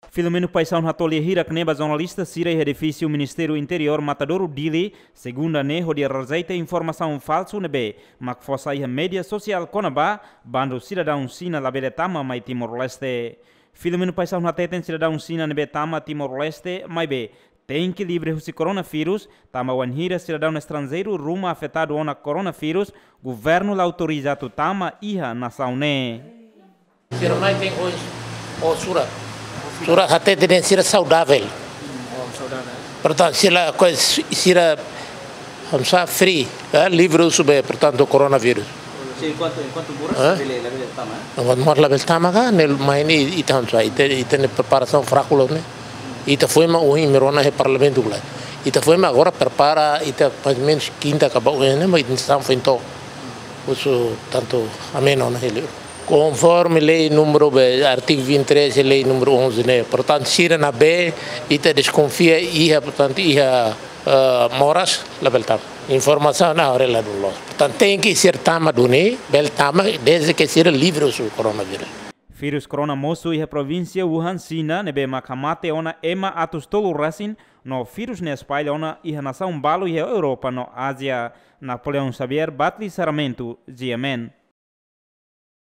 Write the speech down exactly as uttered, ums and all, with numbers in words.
Filomeno Paixão hato'o lia hirak ne'e ba jornalista sira iha edifísiu Ministériu Interiór Matadouro, Dili, segunda ne'e, hodi rejeita informasaun falsu ne'ebé mak fó sai iha média sosiál kona-ba bandu sidadaun Xina labele tama mai Timor-Leste. Filomeno Paixão hateten sidadaun Xina ne'ebé tama Timor-Leste maibé tenke livre husi koronavírus, tanba wainhira sidadaun estranjeiru ruma afetadu ona koronavírus, governu la autoriza atu tama iha nasaun ne'e. Sira mai tenke ho, ho surat. Surat hateten dehan sira saudavel. Oh, saudavel. Portantu, sira, ko, sira, hamsa free, eh, livre husi be, portantu, koronavírus. Sim, enkuantu, enkuantu moras, eh? Labele, labele tama, eh? Enkuantu moras labele tama ka, ne'e mai ne'e ita hamsa, ita, ita-nia preparasaun fraku loos ne'e. Ita foin mak ohin imi rona iha parlamentu kula. Ita foin mak agora prepara, ita mais ou menus kinta ka ba ohin ne'e, mak ita-nia sasán foin to'o. Husu tantu ameno ona hili. Konforme lei númeru be, artigu vinte e três, lei númeru onze ne'e. Portantu, sira ne'ebé ita deskonfia iha, portantu, iha, eh, moras, labele tama. Informasaun ne'e agora la dún loos. Portantu, tenke sira tama duni, bele tama, desde ke sira livre husi koronavírus. Vírus korona mosu iha provínsia Wuhan, Xina, ne'ebé mak hamate ona ema atus tolu resin, no vírus ne'e espalla ona iha nasaun balu iha Europa no Ázia. Napoleão Xavier, Batli Sarmento, G M N.